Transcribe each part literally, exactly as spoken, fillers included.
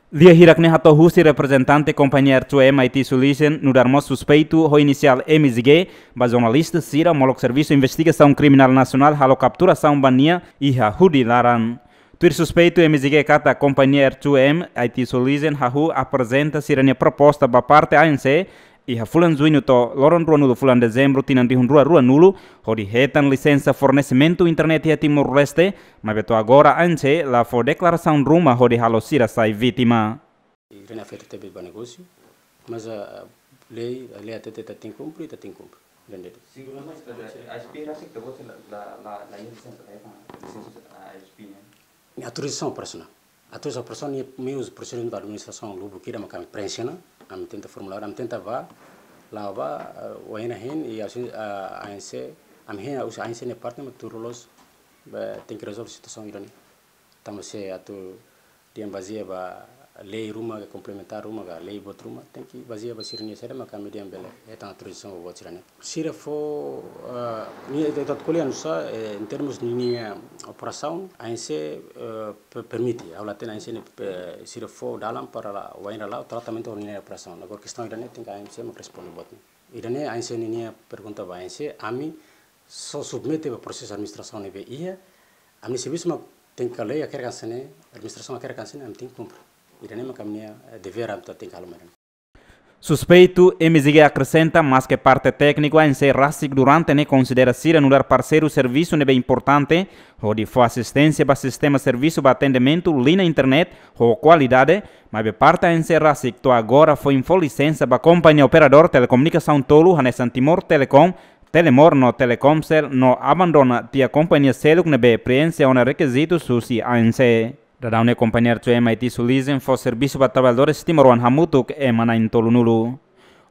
Lia hirak ne'e hato'o husi reprezentante kompañia R two M I T Solution, nu'udar mós suspeitu ho inisiál M Z G, ba jornalista sira molok Servisu Investigasaun Kriminál Nasionál halo kapturasaun ba nia iha Hudi laran. Tuir suspeitu M Z G katak kompañia R two M I T Solution hahú aprezenta sira-nia proposta ba parte A N C iha fulan Juñu to'o loron ruanulu fulan Dezembru tinan rihun rua ruanulu, hodi hetan lisensa fornesimentu internet iha Timor-Leste, maibé to'o agora A N C la fó deklarasaun ruma hodi halo sira sai vítima. Ida-ne'e afeta tebes ba negósiu, mas, ah, lei, lei hatete ita tenke kumpre, ita tenke kumpre. Entende? Sigur, mas la, la, la, la, la, la, lisensa, eh, lisensa, ah, I S P, ne'e? Autorizasaun operasionál. Autorizasaun operasionál ne'e meius prosedimentu administrasaun lubuk ida mak ami preenxe ona, ami tenta formuláriu, ami tenta bá, la'o bá, eh, wainhira hein, i A N C, ami hein, husi A N C nia parte mak tuir loloos, be, tenke rezolve situasaun ida-ne'e. Tanba se atu dehan bazeia ba lei ruma ka komplementár ruma ka lei boot ruma, tenke bazeia ba sira-nia saida maka ami dehan bele hetan autorizasaun ba boot sira-ne'e. Sira fó, ah, nia, ita, ita ko'alia nu'usá, eh, em termos ninia operasaun, A N C, eh, pe-, permite, ha'u la hatene A N C ne'e, eh, sira fó dalan para la, wainhira la'o tratamentu ninia operasaun. Agora kestaun ida-ne'e tenke A N C mak responde boot ne'e. Ida-ne'e A N C ninia pergunta ba A N C, ami só submete ba prosesu administrasaun ne'ebé iha, ami servisu mak tenke lei hakerek hanesan ne'e, administrasaun hakerek hanesan ne'e, ami tenke kumpre. Ida-ne'e mak ami-nia, eh, devér, ami tenke halo mai. Suspeitu M Z G akresenta, maske parte tékniku A N C rasik durante ne'e konsidera sira nu'udar parseiru servisu ne'ebé importante, hodi fó asisténsia ba sistema servisu ba atendimentu liña internet ho kualidade, maibé parte A N C rasik to'o agora foin fó lisensa ba kompañia operadór telekomunikasaun tolu hanesan Timor Telecom, Telemor no Telkomsel no abandona tiha kompañia seluk ne'ebé preenxe ona rekizitu husi A N C. Daudaun ne'e kompañia R two M I T Solution fó servisu ba traballadór timoroan hamutuk ema na'in-tolunulu.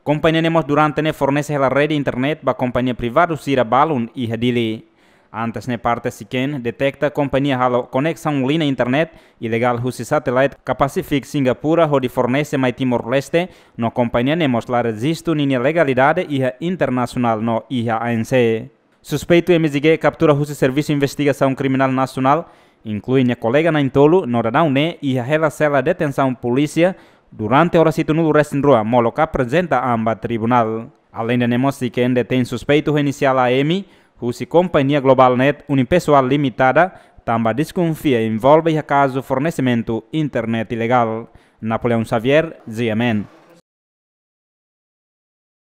Kompañia ne'e mós durante ne'e fornese hela rede internet ba kompañia privadu sira balun iha Dili. Antes ne'e parte SICAN deteta kompañia halo koneksaun liña internet ilegál husi satélite ka Pacific Singapura hodi fornese mai Timor-Leste, no kompañia ne'e mós la rejistu ninia legalidade iha internasionál no iha A N C. Suspeitu M Z G kaptura husi Servisu Investigasaun Kriminál Nasionál, inklui nia kolega na'in-tolu, no daudaun ne'e iha hela sela detensaun polísia durante oras hitunulu-resin-rua molok aprezenta an ba tribunál. Aleinde ne'e mós SICAN detein suspeitu ho inisiál A M, husi kompañia Global Net Unipessoal Limitada, tanba deskonfia envolve iha kazu fornesimentu internet ilegál. Napoleão Xavier, G M N.